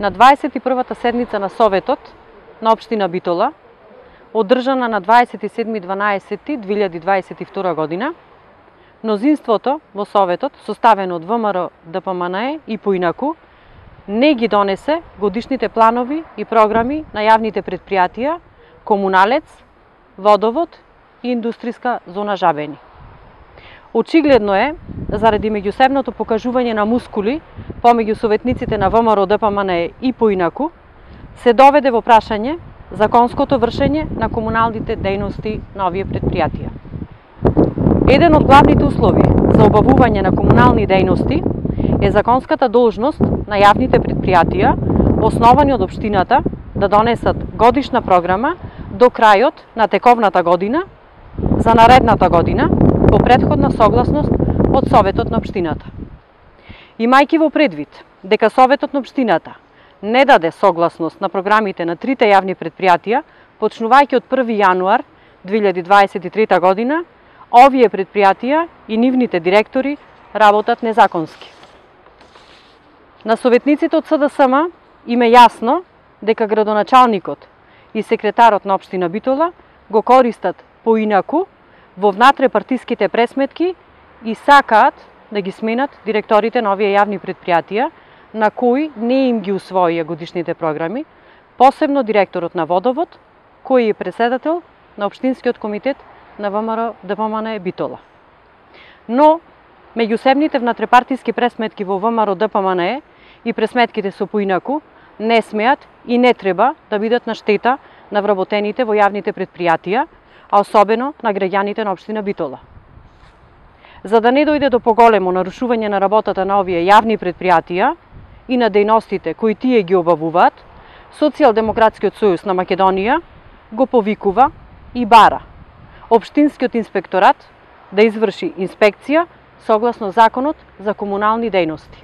На 21-та седница на Советот на општина Битола, одржана на 27.12.2022 година, мнозинството во Советот, составено од ВМРО, ДПМНЕ и поинаку, не ги донесе годишните планови и програми на јавните предпријатија Комуналец, Водовод и Индустријска зона Жабени. Очигледно е, заради меѓусебното покажување на мускули помеѓу советниците на ВМРО, ДПМНЕ и поинаку, се доведе во прашање законското вршење на комуналните дејности на овие предпријатија. Еден од главните услови за обавување на комунални дејности е законската должност на јавните предпријатија, основани од општината, да донесат годишна програма до крајот на тековната година за наредната година по претходна согласност од Советот на општината. Имајќи во предвид дека Советот на општината не даде согласност на програмите на трите јавни предпријатија, почнувајќи од 1 јануар 2023 година, овие предпријатија и нивните директори работат незаконски. На советниците од СДСМ им е јасно дека градоначалникот и секретарот на општина Битола го користат поинаку во внатре-партиските пресметки и сакаат да ги сменат директорите на овие јавни предпријатија, на кои не им ги усвоија годишните програми, посебно директорот на Водовод, кој е председател на Општинскиот комитет на ВМРО ДПМНЕ Битола. Но, меѓусебните внатрепартиски пресметки во ВМРО ДПМНЕ и пресметките со поинаку не смеат и не треба да бидат на штета на вработените во јавните предпријатија, а особено на граѓаните на општина Битола. За да не дојде до поголемо нарушување на работата на овие јавни предпријатија и на дејностите кои тие ги обавуваат, Социјалдемократскиот сојуз на Македонија го повикува и бара Општинскиот инспекторат да изврши инспекција согласно Законот за комунални дејности.